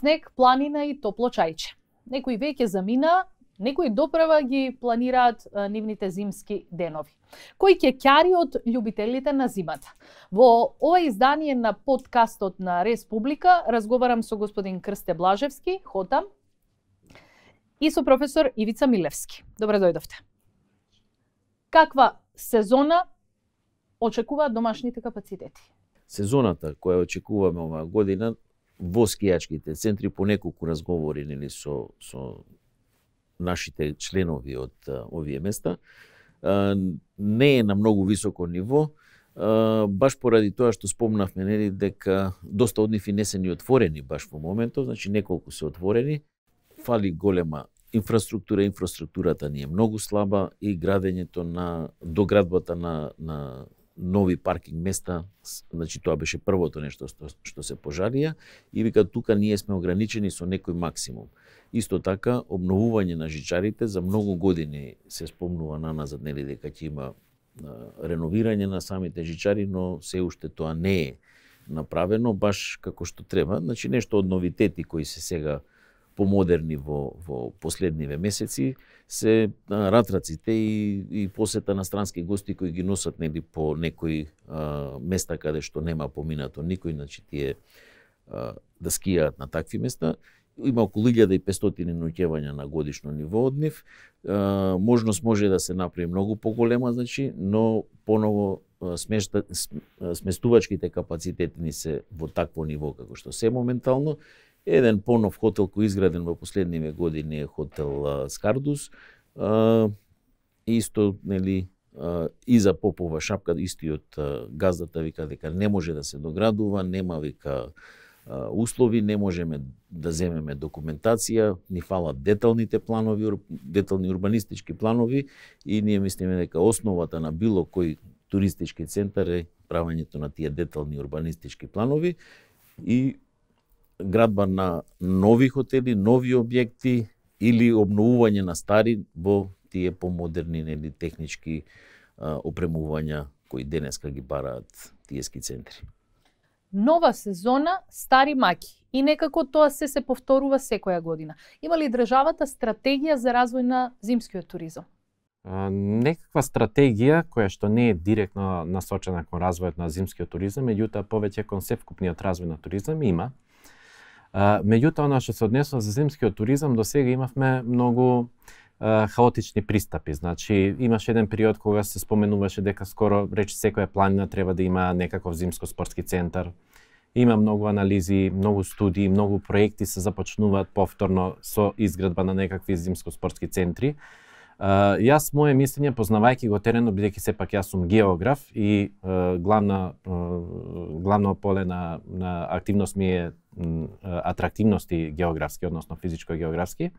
снег, планина и топло чајче. Некои веќе замина, некои допрева ги планираат нивните зимски денови. Кој ќе ќари од љубителите на зимата? Во ова издание на подкастот на Республика разговарам со господин Крсте Блажевски, Хотам, и со професор Ивица Милевски. Добре дојдовте. Каква сезона очекуваат домашните капацитети? Сезоната која очекуваме оваа година во скијачките центри по неколку разговори со нашите членови од овие места не е на многу високо ниво, баш поради тоа што спомнавме дека доста од нив и не се ни отворени баш во моментов, значи неколку се отворени, фали голема инфраструктура, инфраструктурата ни е многу слаба и градењето на доградбата на нови паркинг места, значи тоа беше првото нешто што се пожалија и вика тука ние сме ограничени со некој максимум. Исто така обновување на жичарите за многу години се спомнува наназад дека ќе има реновирање на самите жичари, но се уште тоа не е направено баш како што треба. Значи нешто од новитети кои се сега помодерни во последниве месеци се ратраците и посета на странски гости кои ги носат по некои места каде што нема поминато никој, значи тие да скијаат на такви места. Има околу 1500 ноќевања на годишно ниво од нив. Можност може да се направи многу поголема, значи, но поново сместувачките капацитети ни се во такво ниво како што се моментално. Еден понов хотел кој изграден во последниве години е хотел Скардус. Исто, и за Попова шапка, истиот газдата вика дека не може да се доградува, нема вика услови, не можеме да земеме документација, ни фалат деталните планови, детални урбанистички планови и ние мислиме дека основата на било кој туристички центар е правењето на тие детални урбанистички планови и градба на нови хотели, нови објекти или обновување на стари во тие помодерни технички опремувања кои денеска ги бараат тие ски центри. Нова сезона, стари маки. И некако тоа се повторува секоја година. Има ли државата стратегија за развој на зимскиот туризам? Некаква стратегија која што не е директно насочена кон развојот на зимскиот туризам, меѓутоа повеќе кон севкупниот развој на туризам има. Меѓутоа, она што се однесува за зимскиот туризам, до сега имавме многу хаотични пристапи. Значи, имаше еден период кога се споменуваше дека скоро речи секоја планина треба да има некаков зимско-спортски центар. Има многу анализи, многу студии, многу проекти се започнуваат повторно со изградба на некакви зимско-спортски центри. Јас моje мислење, познавајќи го теренот, бидејќи сепак јас сум географ и главно поле на активност ми е атрактивности географски, односно физичко-географски,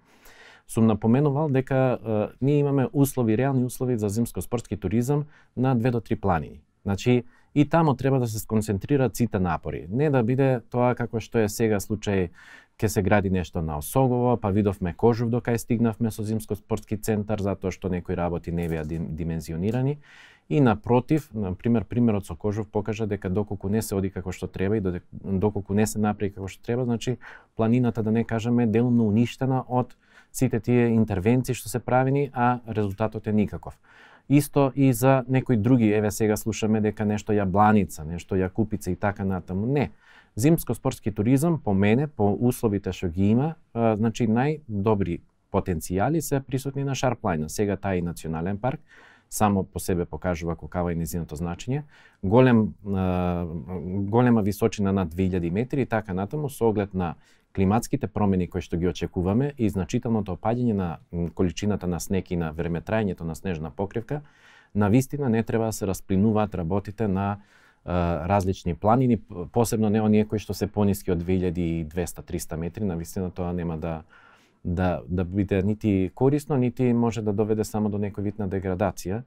сум напоменувал дека ние имаме услови, реални услови за зимско-спортски туризам на 2 до 3 планини. Значи, и тамо треба да се сконцентрираат сите напори. Не да биде тоа како што е сега случај, ке се гради нешто на Осогово, па видовме Кожув докај стигнавме со зимско-спортски центар, затоа што некои работи не беа димензионирани. И напротив, например, примерот со Кожув покажа дека доколку не се оди како што треба и доколку не се направи како што треба, значи планината, да не кажеме, делумно уништена од сите тие интервенции што се правени, а резултатот е никаков. Исто и за некои други, еве сега слушаме дека нешто Јабланица, нешто Јакупица и така натаму. Не. Зимско-спортски туризам по мене, по условите што ги има, значи најдобри потенцијали се присутни на Шарплајна. Сега тај и национален парк само по себе покажува каква е нејзиното значење. Голема височина над 2000 метри и така натаму со оглед на климатските промени кои што ги очекуваме и значителното опаѓање на количината на снег и на времетрајањето на снежна покривка, навистина не треба да се расплинуваат работите на различни планини, посебно не оние кои што се пониски од 2200-300 метри, навистина тоа нема да биде нити корисно, нити може да доведе само до некој вид на деградација.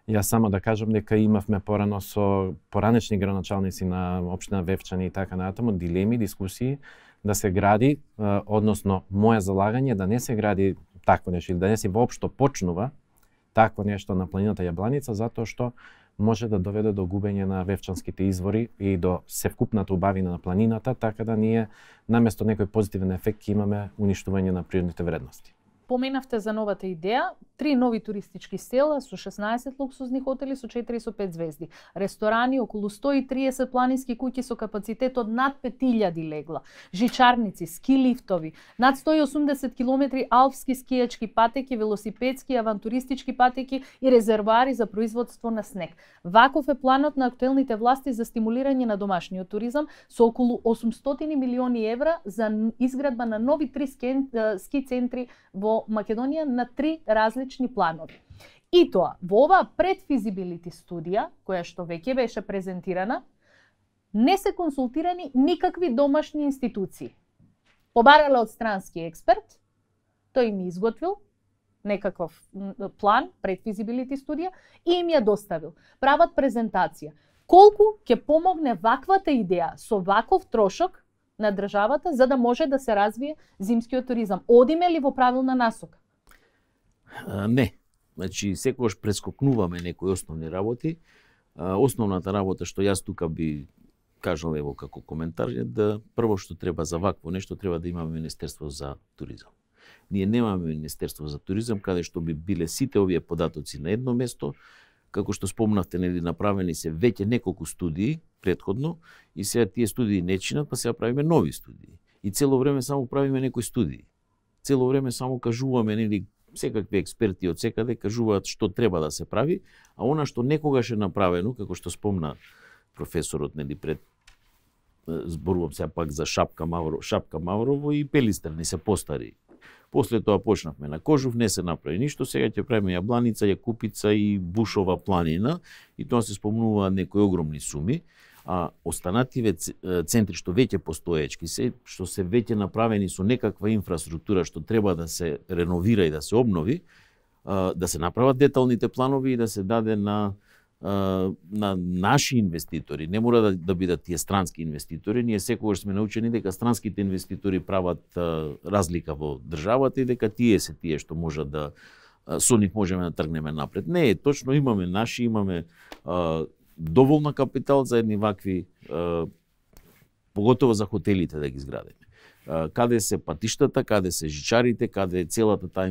Јас само да кажам дека имавме порано со поранешни градоначалници на општина Вевчани и така натаму дилеми, дискусии да се гради, односно моје залагање да не се гради такво нешто или да не се воопшто почнува такво нешто на планината Јабланица, затоа што може да доведе до губење на вевчанските извори и до севкупната убавина на планината, така да ние наместо некој позитивен ефект ќе имаме уништување на природните вредности. Поменавте за новата идеја, 3 нови туристички села со 16 луксузни хотели со 4 со 5 звезди, ресторани, околу 130 планински куќи со капацитет од над 5000 легла, жичарници, ски лифтови, над 180 км алпски скијачки патеки, велосипедски, авантуристички патеки и резервоари за производство на снег. Ваков е планот на актуелните власти за стимулирање на домашниот туризам со околу 800 милиони евра за изградба на нови 3 ски центри во Македонија на 3 различни планови. И тоа, во оваа предфизибилити студија, која што веќе беше презентирана, не се консултирани никакви домашни институции. Побарале од странски експерт, тој им изготвил некаков план, предфизибилити студија, и им ја доставил. Прават презентација. Колку ќе помогне ваквата идеја со ваков трошок на државата за да може да се развие зимскиот туризам? Одиме ли во правилна насока? Не. Значи, секогаш прескокнуваме некои основни работи. Основната работа што јас тука би кажал ево како коментар е да прво што треба за вакво нешто треба да имаме Министерство за туризам. Ние немаме Министерство за туризам каде што би биле сите овие податоци на едно место. Како што спомнавте, нели, направени се веќе неколку студии претходно и сега тие студии не чинат, па сега правиме нови студии. И цело време само правиме некои студии. Цело време само кажуваме, нели, секакви експерти од секаде кажуваат што треба да се прави, а она што некогаш е направено, како што спомна професорот, нели, пред зборувам сега пак за Шапка Маврово и Пелистер, не се постари. После тоа почнавме на Кожув, не се направи ништо, сега ќе правиме Јабланица, Јакупица и Бушова планина, и тоа се спомнуваат некои огромни суми, а останативе центри што веќе постоечки се, што се веќе направени со некаква инфраструктура што треба да се реновира и да се обнови, да се направат деталните планови и да се даде на наши инвеститори. Не мора да бидат тие странски инвеститори. Ние секогаш сме научени дека странските инвеститори прават разлика во државата и дека тие се тие што можат да со нив можеме да тргнеме напред. Не, точно имаме наши, имаме доволна капитал за едни вакви, поготово за хотелите да ги изградиме. Каде се патиштата, каде се жичарите, каде е целата таа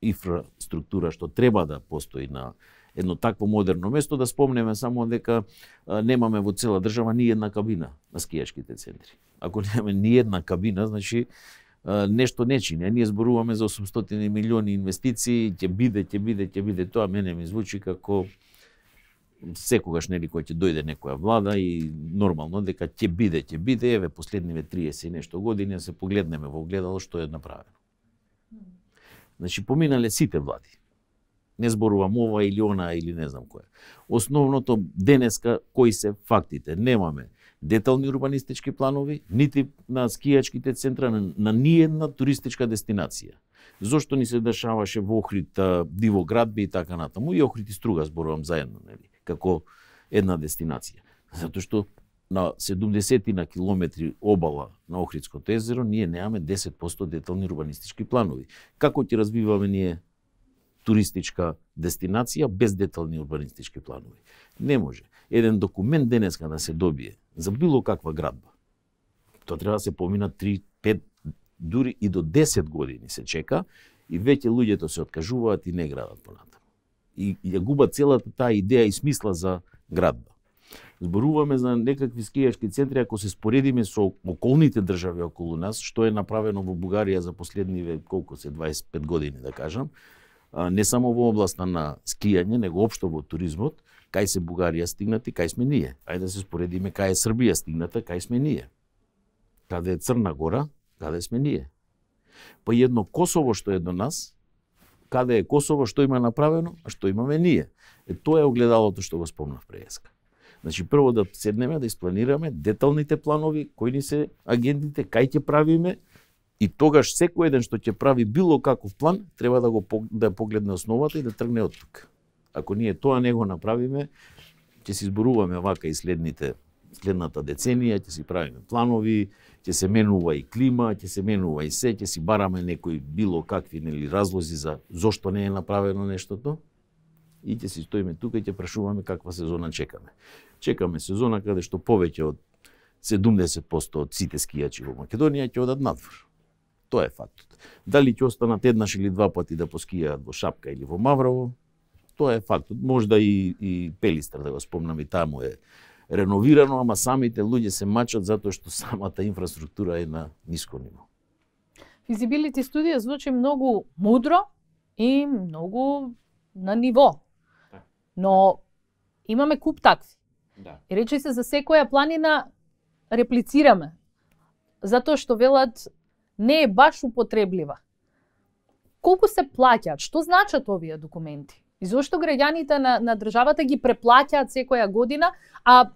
инфраструктура што треба да постои на едно такво модерно место, да спомнеме само дека немаме во цела држава ни една кабина на скијачките центри. Ако немаме ни една кабина, значи нешто не чини. Ние зборуваме за 800 милиони инвестиции, ќе биде, тоа мене ми звучи како секогаш, нели, кој ќе дојде некоја влада и нормално дека ќе биде, еве последниве 30 и нешто години се погледнеме во огледало што е направено. Значи поминале сите влади. Не зборувам ова или она или не знам која. Основното денеска кои се фактите? Немаме детални урбанистички планови, нити на скијачките центра, на ниедна туристичка дестинација. Зошто ни се дешаваше во Охрид диво градби и така натаму, и Охрид и Струга зборувам заедно, нели, како една дестинација. Затоа што на 70 на километри обала на Охридското езеро ние немаме 10% детални урбанистички планови. Како ќе развиваме ние туристичка дестинација без детални урбанистички планови? Не може. Еден документ денеска да се добие за било каква градба, тоа треба да се помина 3, 5, дури и до 10 години се чека и веќе луѓето се откажуваат и не градат понатаму. И ја губат целата таа идеја и смисла за градба. Зборуваме за некакви скијачки центри, ако се споредиме со околните држави околу нас, што е направено во Бугарија за последниве, колку се, 25 години, да кажам, не само во областа на скијање, него општо во туризмот, кај се Бугарија стигнати, кај сме ние. Ајде да се споредиме кај е Србија стигната, кај сме ние. Каде е Црна Гора, каде сме ние. Па едно Косово што е до нас, каде е Косово, што има направено, а што имаме ние. Тоа е огледалото што го спомнав преска. Значи, прво да седнеме, да испланираме деталните планови, кои ни се агендите, кај ќе правиме, и тогаш секој еден што ќе прави било каков план, треба да погледне основата и да тргне од тука. Ако ние тоа не го направиме, ќе си зборуваме вака и следната деценија, ќе си правиме планови, ќе се менува и клима, ќе се менува и се, ќе си бараме некои било какви, нели, разлози за зошто не е направено нештото. и ќе си стоиме тука и ќе прашуваме каква сезона чекаме. Чекаме сезона каде што повеќе од 70% од сите скијачи во Македонија ќе одат надвор. Тоа е фактот. Дали ќе останат еднаш или два пати да поскијаат во Шапка или во Маврово, тоа е фактот. Можда и Пелистар, да го спомнам, и таму е реновирано, ама самите луѓе се мачат затоа што самата инфраструктура е на ниско ниво. Feasibility студија звучи многу мудро и многу на ниво. Но имаме куп такви. Да. И речи се за секоја планина реплицираме. Затоа што велат не е баш употреблива. Колку се плаќаат? Што значат овие документи? И зошто граѓаните на државата ги преплаќаат секоја година, а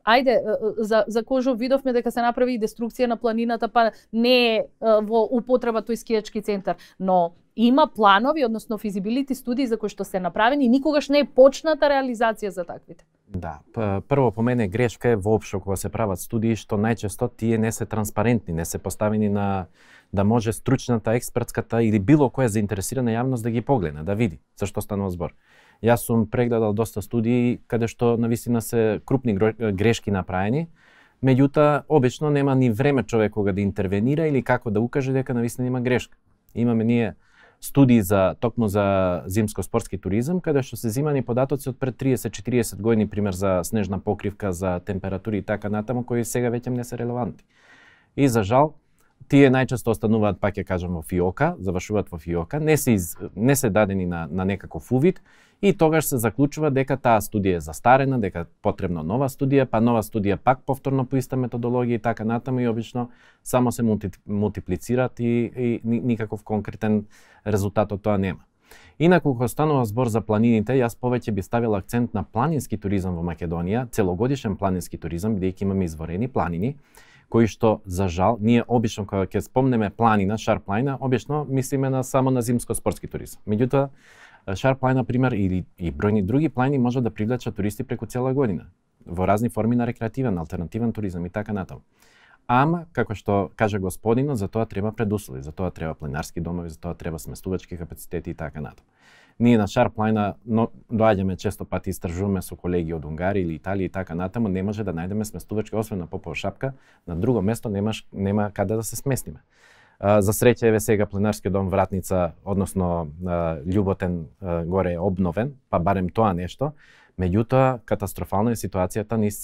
ајде, за Кожов видовме дека се направи и деструкција на планината, па не е во употреба тој скијачки центар, но има планови, односно физибилити студии за кои што се направени и никогаш не е почната реализација за таквите. Да, прво по мене грешка е воопшто кога се прават студии што најчесто тие не се транспарентни, не се поставени на да може стручната, експертската или било која заинтересирана јавност да ги погледне, да види за што станува збор. Јас сум прегледал доста студии каде што навистина се крупни грешки направени, меѓутоа обично нема ни време човек кога да интервенира или како да укаже дека навистина има грешка. Имаме ние студии токму за зимско-спортски туризам, каде што се земани податоци од пред 30-40 години, пример за снежна покривка, за температури и така натаму, кои сега веќе не се релевантни. И за жал, тие најчесто остануваат, пак ќе кажам, во фиока, завршуваат во фиока, не се дадени на некаков увид, и тогаш се заклучува дека таа студија е застарена, дека потребна нова студија, па нова студија пак повторно по иста методологија и така натаму, и обично само се мултиплицираат и никаков конкретен резултат од тоа нема. Инаку кога станува збор за планините, јас повеќе би ставил акцент на планински туризам во Македонија, целогодишен планински туризам, бидејќи имаме изворени планини, кои што за жал ние обично кога ќе спомнеме планина, Шар планина, обично мислиме само на зимско-спортски туризам. Меѓутоа Шар планина, пример, или и бројни други планини може да привлечат туристи преку цела година во разни форми на рекреативен, алтернативен туризам и така натаму. Ама, како што кажа господинот, за тоа треба предуслови, за тоа треба планинарски домови, за тоа треба сместувачки капацитети и така натаму. Ние на Шар планина доаѓаме често пати, истражуваме со колеги од Унгарија или Италија и така натаму, не може да најдеме сместувачки, освен на Попова Шапка, на друго место нема каде да се сместиме. За среќа еве сега планинарскиот дом Вратница, односно Љуботен горе е обновен, па барем тоа нешто. Меѓутоа, катастрофална е ситуацијата низ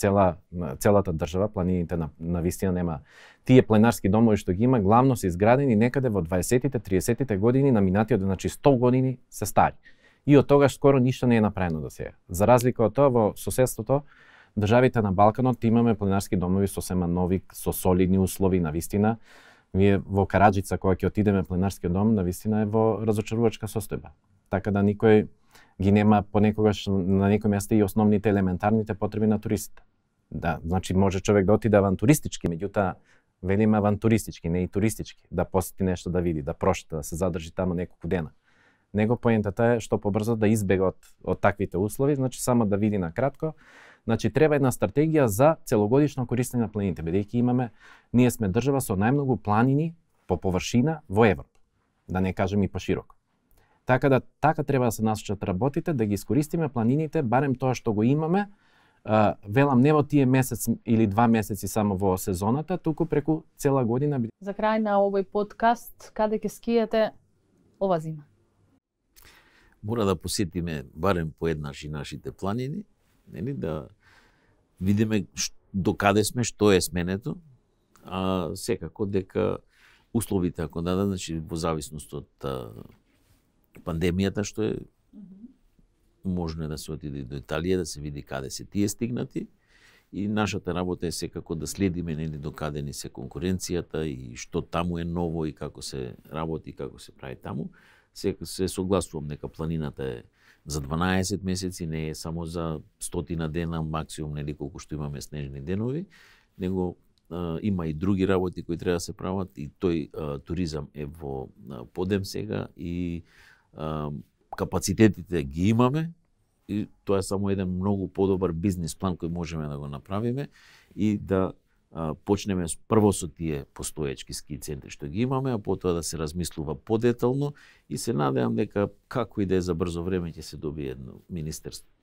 целата држава, планините навистина нема. Тие планинарски домови што ги има, главно се изградени некаде во 20-тите, 30-тите години на минатиот, значи 100 години се стари. И од тогаш скоро ништо не е направено до сега. За разлика од тоа, во соседството, државите на Балканот имаме планинарски домови сосема нови, со солидни услови, навистина. Вие во Караџица, кога ќе отидеме планинарскиот дом, навистина е во разочарувачка состојба. Така да никој ги нема понекогаш на некој место и основните елементарните потреби на туристите. Да, значи може човек да отиде авантуристички, меѓутоа велиме авантуристички, не и туристички, да посети нешто да види, да прошета, да се задржи таму неколку дена. Него поентата е што побрзо да избега од таквите услови, значи само да види на кратко. Значи треба една стратегија за целогодишно користење на планините, бидејќи ние сме држава со најмногу планини по површина во Европа, да не кажем и пошироко. Така треба да се насочат работите, да ги искористиме планините, барем тоа што го имаме, велам не во тие месец или 2 месеци само во сезоната, туку преку цела година. За крај на овој подкаст, каде ќе скијате ова зима? Мора да посетиме барем поеднаш и нашите планини, нели, да видиме до каде сме, што е сменето, а секако дека условите ако дадат, значи во зависност од пандемијата што е, можно е да се отиде до Италија, да се види каде се тие стигнати, и нашата работа е секако да следиме нели до каде ни се конкуренцијата и што таму е ново и како се работи, како се прави таму. Се согласувам дека планината е за 12 месеци, не е само за 100 дена, максимум нели колку што имаме снежни денови, него има и други работи кои треба да се прават, и тој туризам е во подем сега и капацитетите ги имаме, и тоа е само еден многу подобар бизнис план кој можеме да го направиме и да почнеме прво со тие постоечки ски центри што ги имаме, а потоа да се размислува подетално и се надевам дека како и да е за брзо време ќе се добие едно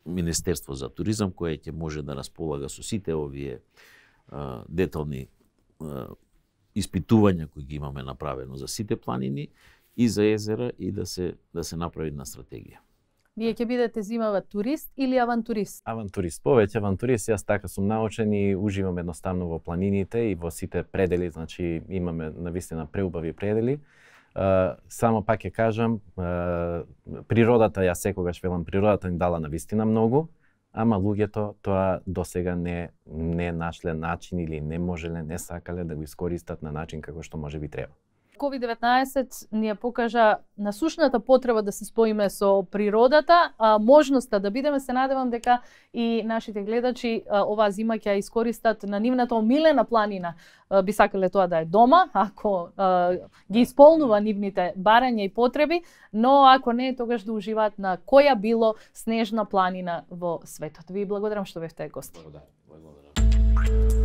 Министерство за туризам кое ќе може да располага со сите овие детални испитувања кои ги имаме направено за сите планини и за езера и да се направи една стратегија. Вие ќе бидете зимава турист или авантурист? Авантурист, повеќе авантурист, јас така сум научен и уживам едноставно во планините и во сите предели, значи имаме навистина преубави предели. Само пак ќе кажам, природата, јас секогаш велам, природата ни дала навистина многу, ама луѓето тоа досега не нашле начин или не можеле, не сакале да го искористат на начин како што може би треба. COVID-19 ни ја покажа насушната потреба да се споиме со природата, можноста да бидеме, се надевам дека и нашите гледачи оваа зима ќе ја искористат на нивната омилена планина. Би сакале тоа да е дома, ако ги исполнува нивните барања и потреби, но ако не, тогаш да уживаат на која било снежна планина во светот. Ви благодарам што бевте гости. Благодарам.